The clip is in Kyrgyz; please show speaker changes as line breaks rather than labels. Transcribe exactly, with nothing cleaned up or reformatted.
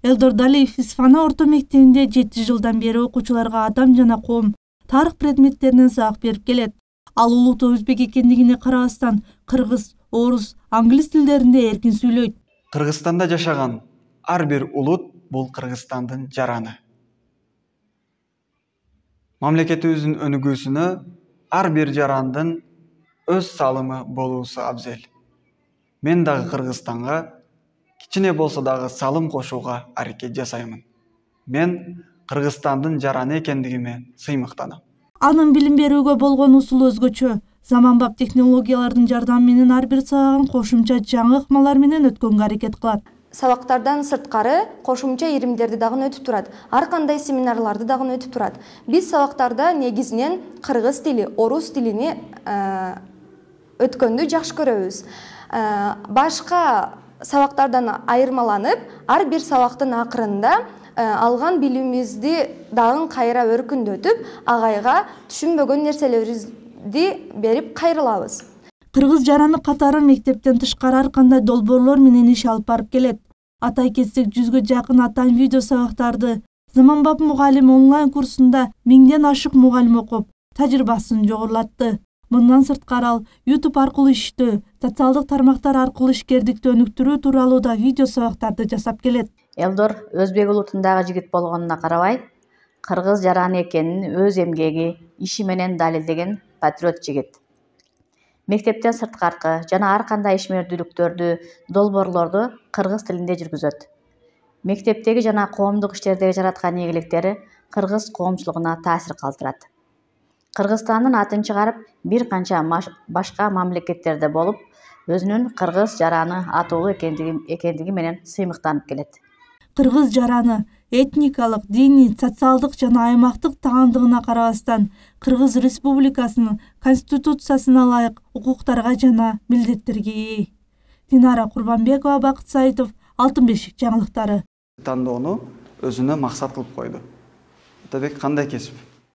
Элдор Далиев Исфана орто мектебинде жети жылдан бери окуучуларга адам жана коом тарых предметтеринен сабак берип келет. Ал улуттуу өзбек экендигине карабастан кыргыз, орус, англис тилдеринде эркин сүйлөйт.
Кыргызстанда жашаган ар бир улут бул Кыргызстандын жараны. Мамлекетибиздин өнүгүүсүнө ар бир жарандын өз салымы болуусу абзел. Мен дагы Кыргызстанга кичине болсо дагы салым кошууга аракет жасаймын. Мен Кыргызстандын жараны экендигиме сыймыктанам.
Анын билим берүүгө болгон усулу өзгөчө. Заманбап технологиялардын жардамы менен ар бир сабагын кошумча жаңы ыкмалар менен өткөнгө аракет кылат.
Сабактардан сырткары кошумча иримдерди дагы өтүп турат. Ар кандай семинарларды дагы өтүп турат. Биз сабактарда негизинен кыргыз тили, орус тилини өткөндү жакшы көрөбүз. Башка сабактардан айырмаланып, ар бир сабактын акырында алган билимибизди дагы кайра өркүндөтүп, агайга түшүнбөгөн нерселерибизди берип кайрылабыз.
Кыргыз жараны катары мектептен тышкары ар кандай долбоорлор менен иш алып барып келет. Атай кетсек, жүзгө жакын атайын видео сабактарды Заманбап мугалим онлайн курсунда миңден ашык мугалим окуп, тажрыйбасын жогорулатты. Мындан сырткары ал YouTube аркылуу иштөө, социалдык тармактар аркылуу ишкердикти өнүктүрүү тууралуу да видео сабактарды жасап келет.
Элдор өзбек улутундагы жигит болгонуна карабай, кыргыз жараны экенин өз эмгеги, иши менен далилдеген патриот жигит. Мектептен сырткаркы жана ар кандай ишмердүүлүктөрдү, долбоорлорду кыргыз тилинде жүргүзөт. Мектептеги жана коомдук иштердеги жараткан ийгиликтери кыргыз коомчулугуна таасир калтырат. Кыргызстандын атын чыгарып, бир канча башка мамлекеттерде болуп, өзүнүн кыргыз жараны атуулуу экендиги менен сыймыктанып келет.
Кыргыз жараны этникалык, диний, социалдык жана аймактык таандыгына карабастан Кыргыз Республикасынын Конституциясына ылайык укуктарга жана милдеттерге ээ. Динара Курбанбекова, Бакыт Саитов, Алтын бешик жаңылыктары.
Тандоону өзүнө максат кылып койду. Атабек кандай кесип?